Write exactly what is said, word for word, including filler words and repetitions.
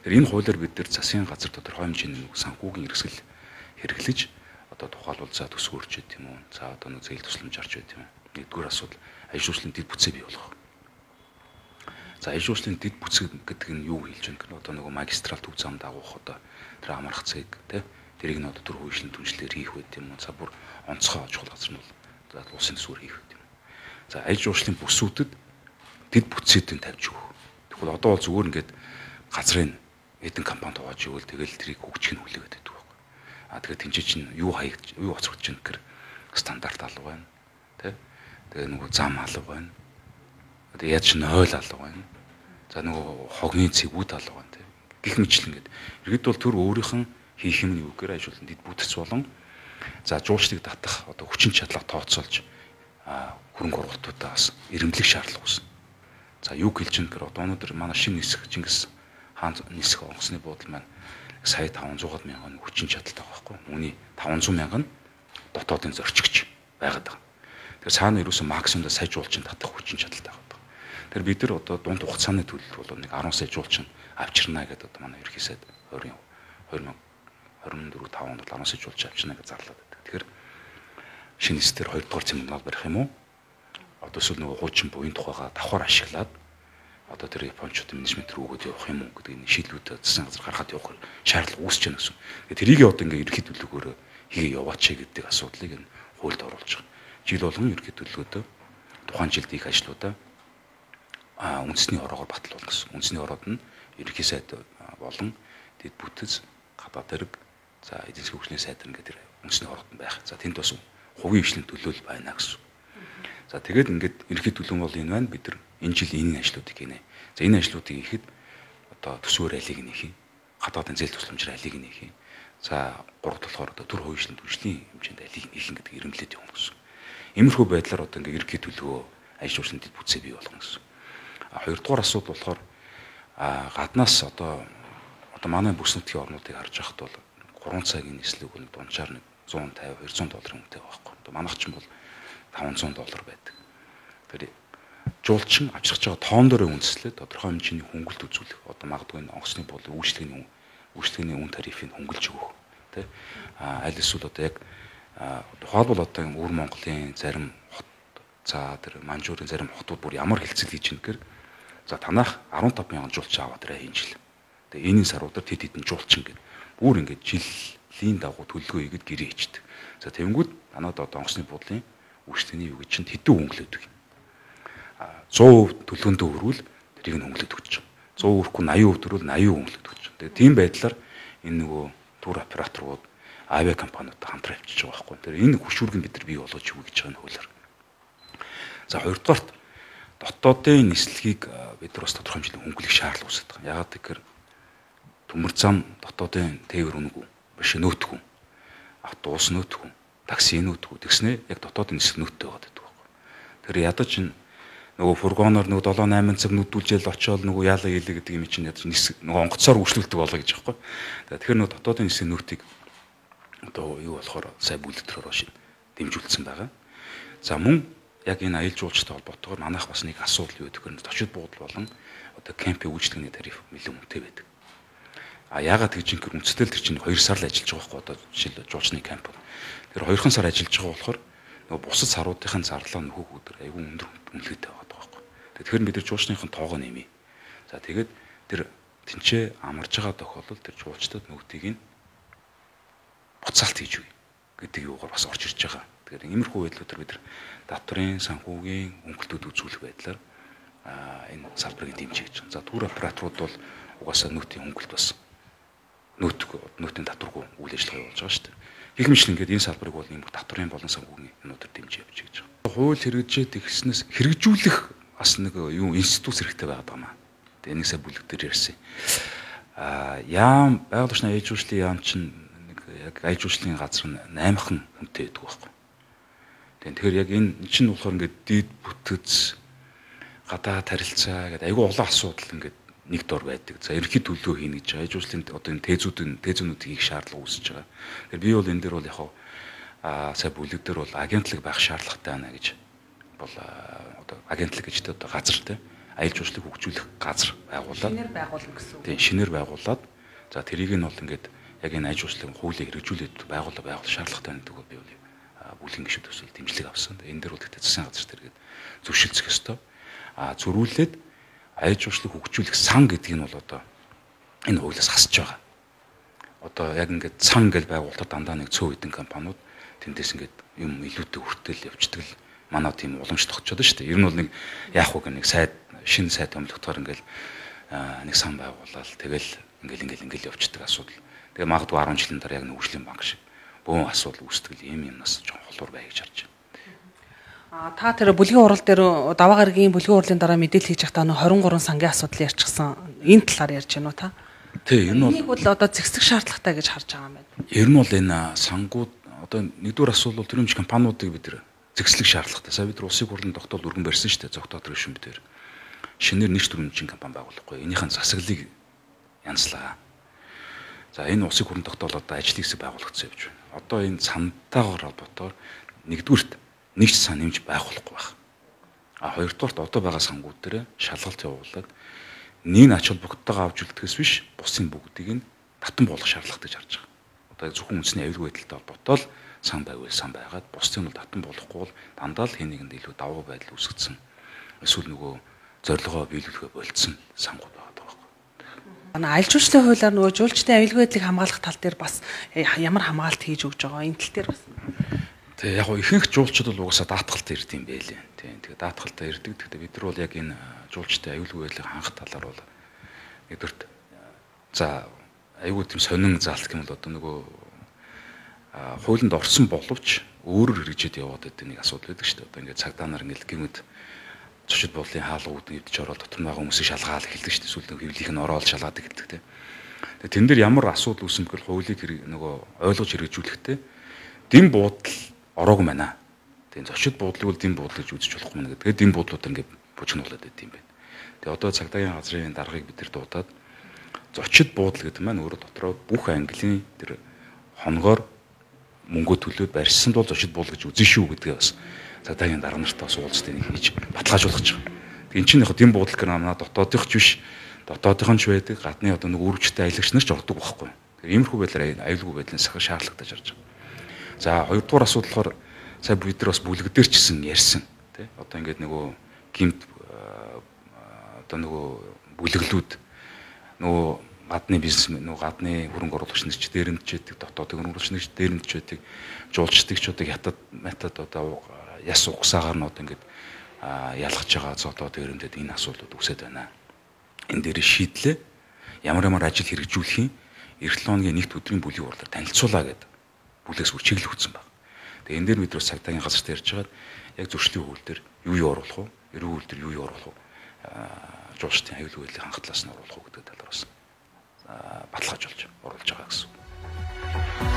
Тэгэхээр энэ хуулиар бид нар засгийн газар тодорхой хэмжээний санхүүгийн эрсгэл хэрэглэж одоо тухайлбал за төсөв өрч байт юм уу? За одоо нэг зээл тусламж арч байт юм уу? Нэгдүгээр асуудал аян шүүслийн дэд бүтцээ бий болгох. За аян шүүслийн дэд бүтц гэдэг нь юу хэлж байна гэвэл одоо нөгөө магистрал төв зам дагуулах одоо тэр амрах цэг тий тэрийг нь одоо төр хүйшлэн түншлэр хийх байт юм уу? За бүр онцгой чухал газар нь бол за улсын төсвөр хийх байт юм. За аян шүүслийн бүсүүдэд дэд бүтцүүдийг тавьж өгөх. Тэгвэл одоо бол зүгээр ингээд газрын эдэн компани тоож ивэл тэгэл тэрийг хөгжих нь хүлээгээд байдаг байхгүй. А тэгэхээр тэнцээ чинь юу хаягдж юу оцрогдож байна гэхээр стандарт алга байна. Тэ? Тэгээ нөгөө зам алга байна. Одоо яаж ч нойл алга байна. За нөгөө хогны цэгүүд алга байна тэ. Гэх мэтлэн ингээд. Иргэд бол төр өөрийнх нь хийх юм нь юу гэхээр ажиглан дэд бүтц болон за жуулчдыг татах одоо хүчин чадлага тооцоолж а хөрөнгө оруулалтуудаа бас эрэмблэх шаардлага үүснэ. За юу хэлж байгаа гэхээр одоо өнөөдөр манай шинэ нисэх Чингис хаан нисэх онгоцны буудлын маань сая таван зуун мянган хүчин чадалтай байгаа байхгүй. Үүний таван зуун мянган дотоодын зорчигч байгаад байгаа. Тэгэхээр цаана ерөөсөн максимумда сая жуулчин татах хүчин чадалтай байгаа. Тэгэхээр бид нар одоо дунд хугацааны төлөлт бол нэг арван сая жуулчин авчирна гэдэг одоо манай ерхий сайд хоёрын двадцать дөрөв таван онд арван сая жуулчин авчирна гэж зарлаад байдаг. Тэгэхээр шинэ нисдэр хоёр дахь цэмнэл барих юм уу? Одоо эсвэл нөгөө хуучин буян тухайга давхар ашиглаад одоо тэр японочдын менежмент рүү өгөөд явах юм уу гэдэг нэг шийдлүүд засгийн газар гаргаад явах шаардлага үүсэж байна гэсэн. Тэгээд тэрийг одоо ингээ ерхий төлөвлөгөөрөө хийгээ яваач гэдэг асуудлыг энэ хуульд оруулж байгаа. Жил болгон ерхий төлөвлөгөөдөө тухайн жилд их ажлуудаа а үндэсний ороогоор батлуулах гэсэн. Үндэсний ороод нь ерхий сайд болон дэд бүтэц гадаад хэрэг за эдийн засгийн хөгжлийн сайд ингээд тэр үндэсний ороод нь байх. За тэнд бас хувийн хвшлийн төлөөлөл байна гэсэн. За тэгээд ингээд ерхий төлөв бол энэ байна. Бид нар энэ жил энэ ажлуудыг хийнэ. За энэ ажлуудыг хийхэд одоо төсвөр алийг нь хий. Гадаадын зээл тусламжаар алийг нь хий. За гурав болохоор одоо төр хувийн түвшлийн хэмжээнд алийг нь хийх гэдэг ирэмблээд явна гэсэн. Иймэрхүү байдлаар одоо ингээд ерхий төлөвөө ажил жуулчлалын дэд бүтцээ бий болгоно гэсэн. А хоёрдугаар асуудал болохоор а гаднаас одоо одоо манай бүс нутгийн орнуудыг харж байхад бол гурван цагийн нислэг нэг дунджаар нэг зуун тавин двести долларын үнэтэй байхгүй. Одоо манайх ч юм бол таван зуун доллар байдаг. Тэр жуулчин авчирч байгаа тоон дөрөө үндэслээд тодорхой хэмжээний хөнгөлт үзүүлэх. Одоо магадгүй онгоцны болон үйлчлэгийн үйлчлэгийн үн тарифыг хөнгөлж өгөх. Тэ а аль эсвэл одоо яг тухайлбал одоо өвөр Монголын зарим хот за тэр Манжуурын зарим хотууд бүр ямар хилцэл хийж байна гэхээр за танах арван таван мянган жуулчин аваад ирээ энэ жил. Тэгээ энэний саруудаар тэд хэдэн жуулчин гэдэг. Бүр ингээд жилийн дагуу төлөвлөгөө хийгээд гэрээ хийдэг. За тэнгүүд танад одоо онгоцны буудлын үйлчлэгийн юу гэж чинь хэдэн хөнгөлөдөг юм. сто хувь төлөвөндөө өрвөл тэрийг нь хөнгөлөд өгч байгаа. сто өрөхгүй восемьдесят хувь төрөл восемьдесят хөнгөлөд өгч байгаа. Тэгээ тийм байдлаар энэ нөгөө тур операторууд авиа компаниудад хамтран авчиж байгаа байхгүй. Тэр энэ хөшүүргийг бид нар бий болгож өгье гэж байгаа нь хуулиар. За хоёрдугаарт дотоодын нислэгийг бид нар бас тодорхой хэмжээний хөнгөлөх шаардлага үүсэж байгаа. Яагаад гэхээр төмөр зам дотоодын тээвэр үнэгүй биш нөөтгөө. Автобус нөөтгөө, такси нөөтгөө тэгснэ яг дотоодын нислэг нөөттэй байгаа гэдэг байхгүй. Тэр ядаж н нөгөө фургоноор нөгөө долоо найман цаг нүдүүлжэл очиод нөгөө яалаа хийлээ гэдэг юм чинь ядаж нисэг нөгөө онгоцоор үйлчлүүлдэг болоо гэж байхгүй. Тэгэхээр нөгөө дотоодын нислэг нөөтийг одоо юу болохоор сая бүлэгдэхээр шин дэмжүүлсэн байгаа. За мөн яг энэ аялал жуулчтай холбоотойгоор манайх бас нэг асуудал юу гэдэг вэ? Зочид буудал болон одоо кемпийн үйлчлэгийн тариф нэлээд үнэтэй байдаг. А яагаад гэж ингэр үнэтэй л тэр чинь хоёр сар л ажиллаж байгаа байхгүй одоо жишээл жуулчны кемп. Тэр хоёрхан сар ажиллаж байгаа болохоор нөгөө бусад саруудын зарлаа нөхөг өдөр айгүй өндөр үнэлгээтэй байгаа байхгүй. Тэгэхээр бид нар жуулчныхын тоогоо нэмье. За тэгээд тэр тэнцээ амарж байгаа тохиолдолд тэр жуулчдад нөгдийг нь буцаалт хийж үе гэдэг юугаар бас орж ирж байгаа. Тэгэхээр иймэрхүү байдлуудаар бид нар татврын санхүүгийн хөнгөлтүүд үзүүлэх байдлаар энэ салбарыг дэмжиж гэж байна. За тур операторууд бол угаасаа нөөтийн хөнгөлт бас нөөтг нөөтийн татваргүй үйл ажиллагаа явуулж байгаа шүү дээ. Гэх мэт ингээд энэ салбарыг бол ийм татврын болон санхүүгийн юмнуудаар дэмжиж явж гэж байгаа. Хууль хэрэгжээд ихснээс хэрэгжүүлэх бас нэг юу институт хэрэгтэй байгаад байгаа маа. Тэгээ нэг сая бүлэгдэр ярьсан. Аа яам байгаль орчны аяж жуулчлалын яам чинь нэг яг аяж жуулчлалын газар нь наймхан хүнтэй байдаг байхгүй. Тэгэхээр яг энэ чинь болохоор ингээд дид бүтэц гадаад харилцаа гэдэг айгүй олон асуудал ингээд нэг дор байдаг. За ерөнхий төлөвлөгөө хийнэ гэж аяж жуулчлалын одоо энэ тээзүүдийн тээзүүнүүдийг хийх шаардлага үүсэж байгаа. Тэгэхээр би бол энэ дээр бол яг аа сая бүлэг дээр бол агентлаг байх шаардлагатай байна гэж бол одоо агентлаг гэж одоо газар те аялал жуулчлалыг хөгжүүлэх газар байгуулад шинээр байгуулна гэсэн үг. Тийм шинээр байгуулад за тэрийг нь бол ингээд яг энэ аялал жуулчлалын хуулийг хэрэгжүүлээд байгуулаа байгуул шаардлагатай байдаг би бол бүлгийн гишүүд төсөл дэмжлэг авсан. Энэ дээр бол тэгтээ засгийн газар тэргээд зөвшөлдсөх ёстой. А зөрүүлээд аялал жуулчлалыг хөгжүүлэх сан гэдгийг нь бол одоо энэ хуулиас хасж байгаа. Одоо яг ингээд сан гэж байгуулалтад дандаа нэг цөөн хэдэн компаниуд тэндээс ингээд юм илүүтэй хүртэл явждаг л манай тийм уламж тогтчод шүү дээ. Ер нь бол нэг яах вэ гэх нэг сайд шинэ сайд томилготоор ингээд нэг сан байгуулаад тэгэл ингээл ингээл ингээл явждаг асуудал. Тэгээ магадгүй арван жилийн дараа яг нэг хөгжлийн банк шиг бөөн асуудал үүсдэг юм юмнаас жоохон холуур бай гэж харж байна. А та тэр бүлгийн урал дээр даваа гарагийн бүлгийн урлын дараа мэдээлэл хийж байхдаа нөө двадцать три сангийн асуудал ярьчихсан. Энэ талаар ярьж байна уу та? Тий, энэ бол энийг бол одоо зэгсэх шаардлагатай гэж харж байгаа юм байна. Ер нь бол энэ сангууд одоо нэгдүгээр асуудал төрөмж компаниудыг бид нэр зэгслэх шаардлагатай. Сая бид нар улсын хурлын тогтоол өргөн барьсан шүү дээ. Зогтоод ришүм дээр. Шинээр нэгж төрөмжийн компани байгуулахгүй. Энийхэн засаглалыг янзлаа. За энэ улсын хурлын тогтоол одоо ажлын хэсэг байгуулагдсан явж байна. Одоо энэ цантайгаар холбоотоор нэгдүгürt нэгж сан нэмж байгуулахгүй байна. А хоёрдугаарт одоо байгаа сангууд дээр шалгалт явуулаад нэг ач холбогдолтойгоо авч үлдэхээс биш бусын бүгдийг нь татан болгох шаардлагатай гэж харж байгаа. Одоо зөвхөн үндэсний аюулгүй байдалтай холбоотой л сан байвал сан байгаад бусдын бол татан болохгүй бол дандаа л хэн нэгэнд илүү давуу байдал үүсгэсэн. Эсвэл нөгөө зорилгоо биелүүлэхэ болцсон сангууд байгаа даа. Манай аялал жуулчлалын хуулиар нөгөө жуулчдын аюулгүй байдлыг хамгаалах тал дээр бас ямар хамгаалт хийж өгж байгаа энэ тал дээр бас. Тэгээ яг ихэнх жуулчид бол угаасаа даатгалт ирд юм байлээ. Тийм. Тэгээ даатгалтаа ирдэг. Тэгэхээр бид нар бол яг энэ жуулчдын аюулгүй байдлыг хангах талаар бол нэгдүгürt за аюулгүй тийм сонин заалт гэмэл одоо нөгөө хуулинд орсон боловч өөрөөр хэрэгжээд яваад байдаг нэг асуудал байдаг шүү дээ. Одоо ингээд цагдаа нар ингээд гэмэд зочид буудлын хаалгууд нэвдэж ороод дотор байгаа хүмүүсийг шалгаал эхэлдэг шүү дээ. Эсвэл нэг хөвлийнх нь ороод шалгаад эхэлдэг тийм. Тэгээ тэн дээр ямар асуудал үүсэн бэхэл хуулийг нөгөө ойлгож хэрэгжүүлэхдээ дэм буудал ороог байна. Тэгээ зочид буудлыг бол дэм буудал гэж үзэж болохгүй мэн гэдэг. Дэм буудлууд ингээд бужигнуулаад байт юм байна. Тэгээ одоо цагдаагийн газрын даргыг бид нар дуудаад зочид буудал гэдэг маань өөрөө дотроо бүх английн тэр хоногоор мөнгө төлөөд барьсан бол зочид буудал гэж үзэн шүү гэдгээ бас цагдаагийн дарга нартай бас уулзтыг нэг хийж баталгаажуулах гэж байгаа. Тэгээ эн чинь яг дэм буудал гэх наа дотоодынх ч биш дотоодынх нь ч байдаг гадны одоо нэг үргэлжтэй аялагч нар ч ордог байхгүй. Тэгээ иймэрхүү байдлаар аюулгүй байдлын сахар шаардлагатай жарж байгаа. За хоёрдугаар асуудал болохоор сая бид нар бас бүлэгдэр ч гэсэн ярьсан тий. Одоо ингээд нөгөө гимт одоо нөгөө бүлэглүүд нөгөө гадны бизнесмен нөгөө гадны хөрөнгө оруулагч нар ч дээрэмдчихэд дотоодын хөрөнгө оруулагч нар ч дээрэмдчихэд жуулчдагчдыг хятад метод одоо яс угсаагаар нь одоо ингээд ялгаж байгаа зодоо дээрэмдэд энэ асуудлууд үсэт байна. Энэ дээр шийдлээ ямар ямар ажил хэрэгжүүлэх юм эх лооны нэгд өдрийн бүлгийн урлаар танилцуулаа гэдэг бүлээс үр чиглэл өгсөн баг. Тэгээ энэ дээр бид бас цагдаагийн газарт ярьж байгаад яг зөрчлийн хууль дээр юу юу оруулах вэ? Эрүүл хууль дээр юу юу оруулах вэ? Жуулчдын аюулгүй байдлыг хангах талаас нь оруулах уу гэдэг талаар бас баталгаажуулж оруулж байгаа гэсэн.